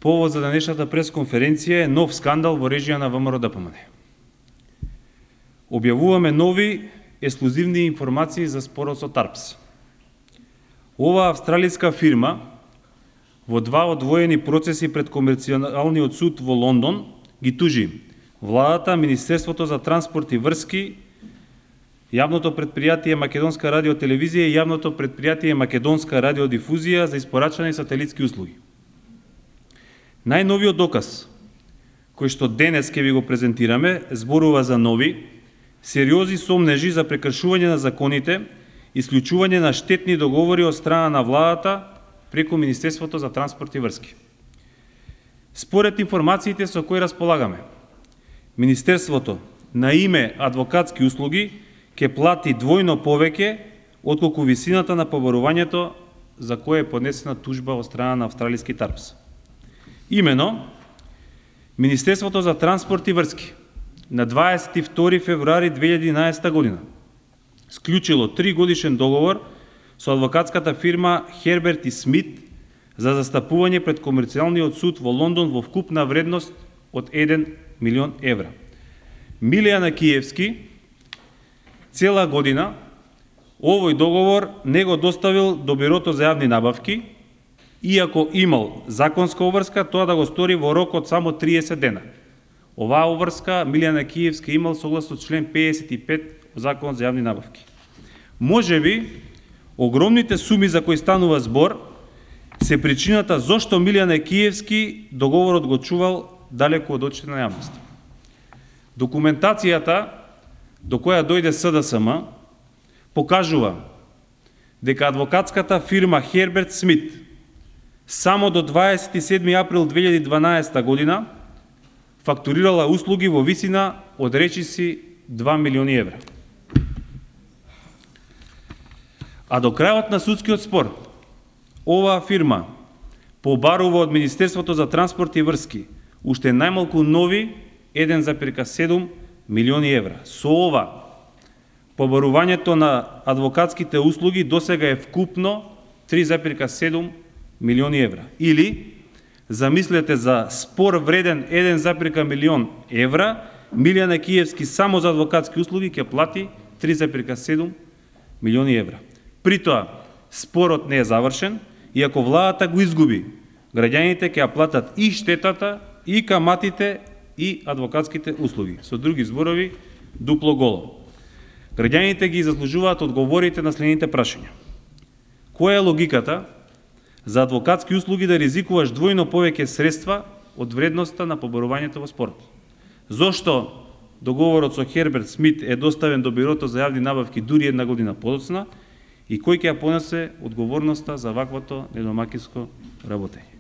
Повод за денешната пресконференција е нов скандал во режија на ВМРО-ДПМН. Објавуваме нови ексклузивни информации за спорот со ТАРПС. Оваа австралиска фирма во два одвоени процеси пред Комерцијалниот суд во Лондон ги тужи владата, Министерството за транспорт и врски, Јавното предпријатие Македонска радиотелевизија и Јавното предпријатие Македонска радиодифузија за испорачани сателитски услуги. Најновиот доказ, кој што денес ќе ви го презентираме, зборува за нови, сериозни сомнежи за прекршување на законите, исклучување на штетни договори од страна на владата преку Министерството за транспорт и врски. Според информациите со кои располагаме, Министерството на име адвокатски услуги ќе плати двојно повеќе отколку висината на побарувањето за кое е поднесена тужба од страна на австралиски ТАРПС. Имено, Министерството за транспорт и врски на 22 февруари 2011 година склучило 3-годишен договор со адвокатската фирма Херберт и Смит за застапување пред Комерцијалниот суд во Лондон во вкупна вредност од 1 милион евра. Милијана Киевски цела година овој договор не го доставил до Бирото за јавни набавки, иако имал законска обврска тоа да го стори во рок од само 30 дена. Оваа обврска Милијана Киевски имал согласно член 55 од Законот за јавни набавки. Можеби огромните суми за кои станува збор се причината зошто Милијана Киевски договорот го чувал далеку од очите на јавноста. Документацијата до која дојде СДСМ покажува дека адвокатската фирма Херберт Смит само до 27 април 2012 година фактурирала услуги во висина од речиси 2 милиони евра. А до крајот на судскиот спор, оваа фирма побарува од Министерството за транспорт и врски уште најмалку нови 1,7 милиони евра. Со ова, побарувањето на адвокатските услуги досега е вкупно 3,7 милиони евра. Или, замислете за спор вреден 1,1 милион евра, Милијана Киевски само за адвокатски услуги ќе плати 3,7 милиони евра. При тоа, спорот не е завршен, и ако владата го изгуби, граѓаните ќе ја платат и штетата, и каматите, и адвокатските услуги. Со други зборови, дупло голо. Граѓаните ги заслужуваат одговорите на следните прашања. Која е логиката за адвокатски услуги да ризикуваш двојно повеќе средства од вредноста на побарувањето во спорот? Зошто договорот со Херберт Смит е доставен до Бирото за јавни набавки дури една година подоцна и кој ќе ја понесе одговорноста за ваквото недомакинско работење?